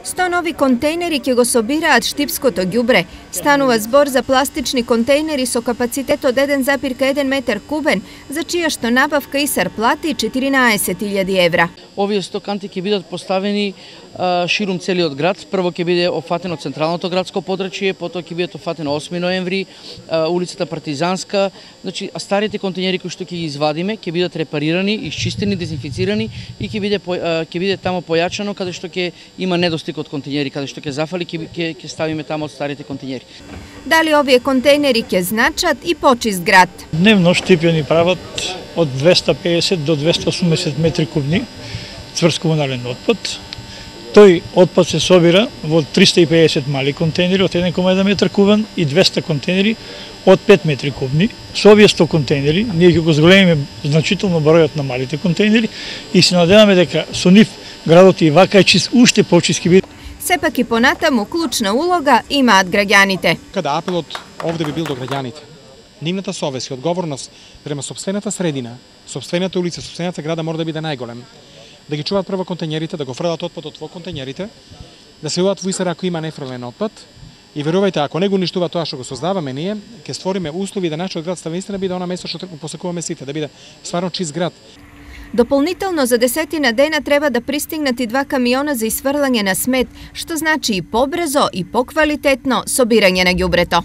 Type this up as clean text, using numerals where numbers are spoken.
100 нови контейнери ќе го собираат штипското ѓубре. Станува збор за пластични контейнери со капацитет од 1,1 метар кубен, за чија што набавка ИСАР плати 14.000 евра. Овие 100 канти ќе бидат поставени ширум целиот град. Прво ќе биде опфатено централното градско подрачје, потоа ќе бидат опфатено 8 ноември, улицата Партизанска. Значи, старите контейнери кои што ќе ги извадиме, ќе бидат репарирани, исчистени, дезинфицирани и ќе биде тамо појачано каде што ќе има недостиг од контейнери, каде што ќе зафали, ќе ставиме тамо од старите контейнери. Дали овие контейнери ќе значат и почист град? Дневно штипјани прават од 250 до 280 метри кубни цврст комунален отпад. Тој отпад се собира во 350 мали контейнери од 1,1 метар кубен и 200 контейнери од 5 метри кубни. Со овие 100 контейнери ние ќе го зголемиме значително бројот на малите контейнери и се надеваме дека со нив градот и вака е чист, уште почист ќе биде. Сепак и понатаму клучна улога имаат граѓаните. Када апелот овде би бил до граѓаните. Нивната совест и одговорност према сопствената средина, сопствената улица, сопствената града мора да биде најголем. Да ги чуваат прво контейнерите, да го фрлат отпадот во контейнерите, да се јават во ИСАР ако има нефрлен отпад. И верувајте, ако не го уништува тоа што го создаваме ние, ќе створиме услови да нашиот град наистина биде она место што посекуваме сите, да биде стварно чист град. Дополнително за 10 дена треба да пристигнат и 2 камиона за исфрлање на смет, што значи и побрзо и поквалитетно собирање на ѓубрето.